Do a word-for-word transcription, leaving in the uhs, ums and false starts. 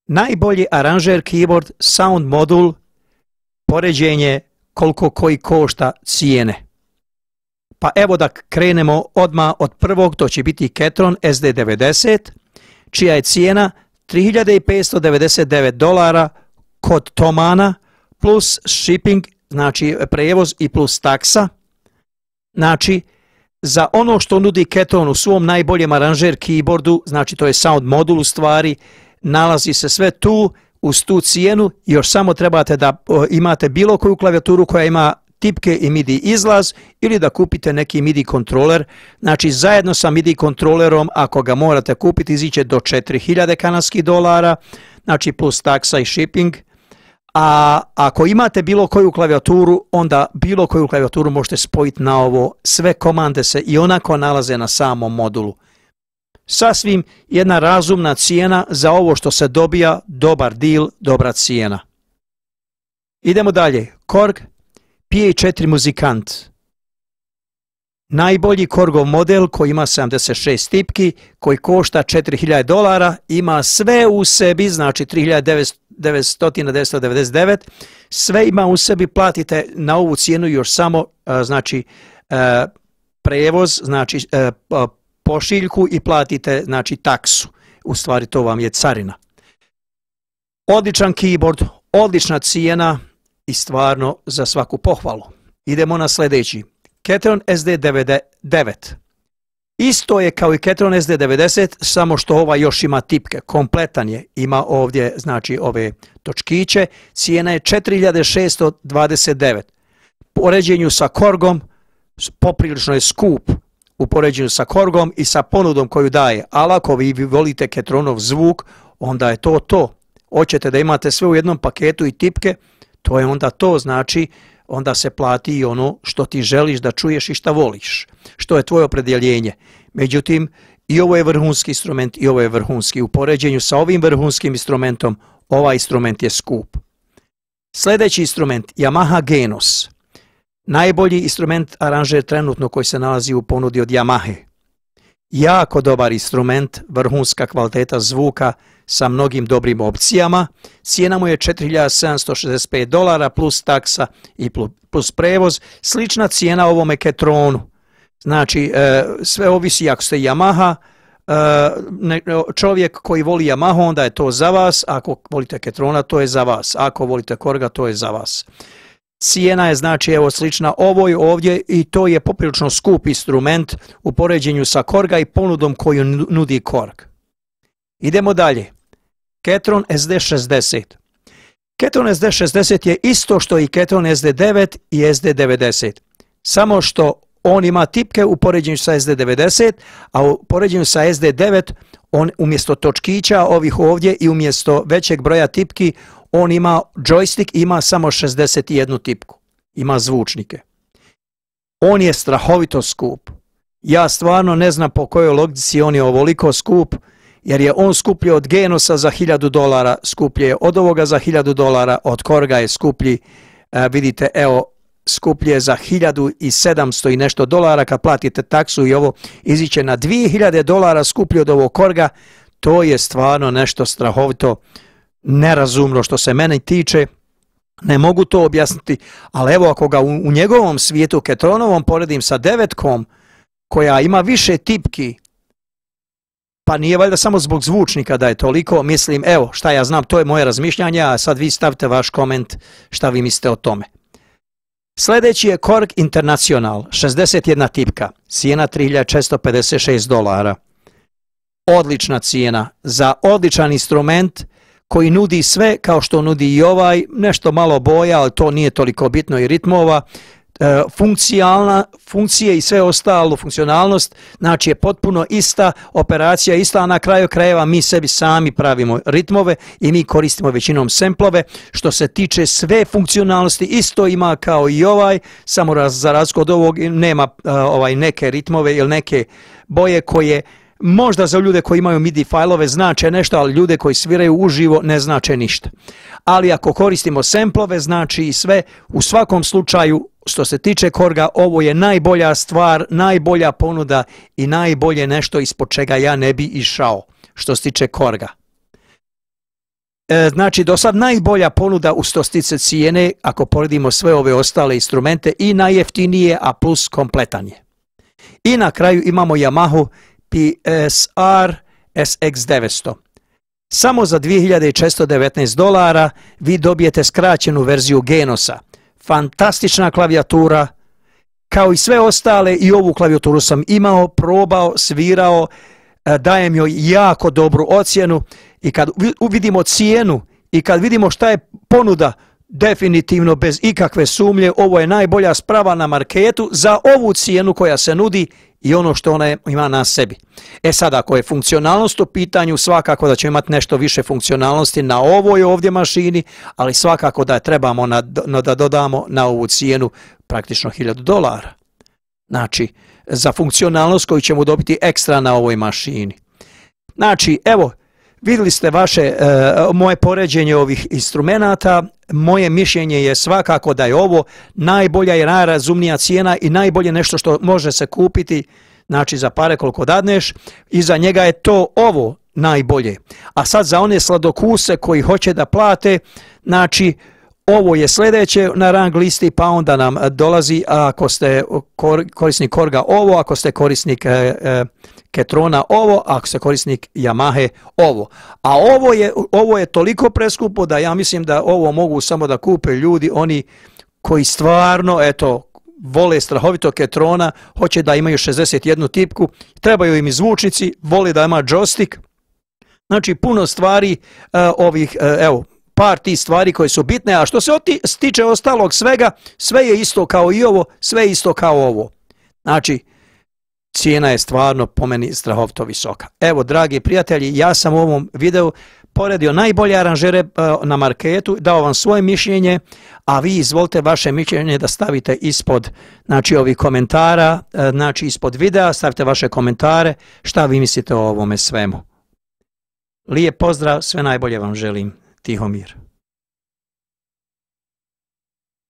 Najbolji aranžer keyboard sound modul, poređenje koliko koji košta cijene. Pa evo da krenemo odmah od prvog, to će biti Ketron S D devedeset, čija je cijena tri hiljade petsto devedeset devet dolara kod Thomana, plus shipping, znači prevoz i plus taksa. Znači, za ono što nudi Ketron u svom najboljem aranžer keyboardu, znači to je sound modul u stvari, nalazi se sve tu, uz tu cijenu, još samo trebate da imate bilo koju klavijaturu koja ima tipke i MIDI izlaz ili da kupite neki MIDI kontroler. Znači zajedno sa MIDI kontrolerom, ako ga morate kupiti, iziće do četiri hiljade kanadskih dolara, znači plus taksa i shipping. A ako imate bilo koju klavijaturu, onda bilo koju klavijaturu možete spojiti na ovo. Sve komande se i onako nalaze na samom modulu. Sasvim jedna razumna cijena za ovo što se dobija, dobar deal, dobra cijena. Idemo dalje. Korg P A četiri muzikant. Najbolji Korgov model koji ima sedamdeset šest tipki, koji košta četiri hiljade dolara, ima sve u sebi, znači tri hiljade devetsto devedeset devet, sve ima u sebi, platite na ovu cijenu još samo znači prevoz, znači pošiljku i platite znači taksu. U stvari to vam je carina. Odličan keyboard, odlična cijena i stvarno za svaku pohvalu. Idemo na sljedeći. Ketron S D devedeset. Isto je kao i Ketron S D devedeset, samo što ova još ima tipke. Kompletan je. Ima ovdje znači ove točkiće. Cijena je četiri hiljade šeststo dvadeset devet. U poređenju sa Korgom poprilično je skup. U poređenju sa Korgom i sa ponudom koju daje. Ali ako vi volite Ketronov zvuk, onda je to to. Hoćete da imate sve u jednom paketu i tipke, to je onda to, znači onda se plati i ono što ti želiš da čuješ i šta voliš, što je tvoje opredjeljenje. Međutim, i ovo je vrhunski instrument i ovo je vrhunski. U poređenju sa ovim vrhunskim instrumentom, ovaj instrument je skup. Sljedeći instrument, Yamaha Genos. Najbolji instrument aranžer trenutno koji se nalazi u ponudi od Yamahe. Jako dobar instrument, vrhunska kvaliteta zvuka sa mnogim dobrim opcijama. Cijena mu je četiri hiljade sedamsto šezdeset pet dolara plus taksa i plus prevoz. Slična cijena ovome Ketronu. Znači, sve ovisi ako ste Yamaha, čovjek koji voli Yamaha, onda je to za vas. Ako volite Ketrona, to je za vas. Ako volite Korga, to je za vas. Cijena je znači evo slična ovoj ovdje i to je poprilično skup instrument u poređenju sa Korga i ponudom koju nudi Korg. Idemo dalje. Ketron S D šezdeset. Ketron S D šezdeset je isto što i Ketron S D devet i S D devedeset. Samo što on ima tipke u poređenju sa S D devedeset, a u poređenju sa S D devet on umjesto točkića ovih ovdje i umjesto većeg broja tipki on ima joystick, ima samo šezdeset jednu tipku. Ima zvučnike. On je strahovito skup. Ja stvarno ne znam po kojoj logici on je ovoliko skup, jer je on skuplji od Genosa za hiljadu dolara, skuplji je od ovoga za hiljadu dolara, od Korga je skuplji, e, vidite, evo, skuplji je za hiljadu sedamsto i nešto dolara, kad platite taksu i ovo iziće na dvije hiljade dolara skuplji od ovog Korga, to je stvarno nešto strahovito nerazumno što se mene tiče, ne mogu to objasniti, ali evo ako ga u, u njegovom svijetu Ketronovom poredim sa devetkom, koja ima više tipki, pa nije valjda samo zbog zvučnika da je toliko, mislim, evo, šta ja znam, to je moje razmišljanje, a sad vi stavite vaš koment šta vi mislite o tome. Sljedeći je Korg International, šezdeset jedna tipka, cijena tri hiljade četiristo pedeset šest dolara. Odlična cijena za odličan instrument koji nudi sve kao što nudi i ovaj, nešto malo boja, ali to nije toliko bitno i ritmova, e, funkcionalna, funkcije i sve ostalo, funkcionalnost, znači je potpuno ista, operacija ista, a na kraju krajeva mi sebi sami pravimo ritmove i mi koristimo većinom semplove. Što se tiče sve funkcionalnosti, isto ima kao i ovaj, samo raz, za razliku od ovog nema uh, ovaj neke ritmove ili neke boje koje možda za ljude koji imaju MIDI fajlove znače nešto, ali ljude koji sviraju uživo ne znače ništa. Ali ako koristimo semplove, znači i sve, u svakom slučaju, što se tiče Korga, ovo je najbolja stvar, najbolja ponuda i najbolje nešto ispod čega ja ne bi išao, što se tiče Korga. E, znači, do sad najbolja ponuda u što stiče cijene, ako poredimo sve ove ostale instrumente, i najjeftinije, a plus kompletan je. I na kraju imamo Yamaha P S R S X devetsto. Samo za dvije hiljade četiristo devetnaest dolara vi dobijete skraćenu verziju Genosa. Fantastična klavijatura, kao i sve ostale, i ovu klavijaturu sam imao, probao, svirao, dajem joj jako dobru ocjenu, i kad vidimo cijenu i kad vidimo šta je ponuda, definitivno bez ikakve sumnje ovo je najbolja sprava na marketu za ovu cijenu koja se nudi i ono što ona ima na sebi. E sad, ako je funkcionalnost u pitanju, svakako da ćemo imati nešto više funkcionalnosti na ovoj ovdje mašini, ali svakako da trebamo na, da dodamo na ovu cijenu praktično hiljadu dolara. Znači, za funkcionalnost koju ćemo dobiti ekstra na ovoj mašini. Znači, evo, vidjeli ste vaše, e, moje poređenje ovih instrumenata. Moje mišljenje je svakako da je ovo najbolja i najrazumnija cijena i najbolje nešto što može se kupiti, znači za pare koliko dadneš, i za njega je to ovo najbolje. A sad za one sladokuse koji hoće da plate, znači ovo je sljedeće na rang listi, pa onda nam dolazi, ako ste korisnik Korga ovo, ako ste korisnik e, e, Ketrona ovo, ako ste korisnik Yamahe ovo. A ovo je, ovo je toliko preskupo da ja mislim da ovo mogu samo da kupe ljudi, oni koji stvarno, eto, vole strahovito Ketrona, hoće da imaju šezdeset jednu tipku, trebaju im i zvučnici, vole da ima joystick. Znači, puno stvari uh, ovih, uh, evo, par tih stvari koje su bitne, a što se tiče ostalog svega, sve je isto kao i ovo, sve je isto kao ovo. Znači, cijena je stvarno po meni strahovito visoka. Evo, dragi prijatelji, ja sam u ovom videu poredio najbolje aranžere na marketu, dao vam svoje mišljenje, a vi izvolite vaše mišljenje da stavite ispod, znači, ovih komentara, znači ispod videa, stavite vaše komentare, šta vi mislite o ovome svemu. Lijep pozdrav, sve najbolje vam želim. Tihomir.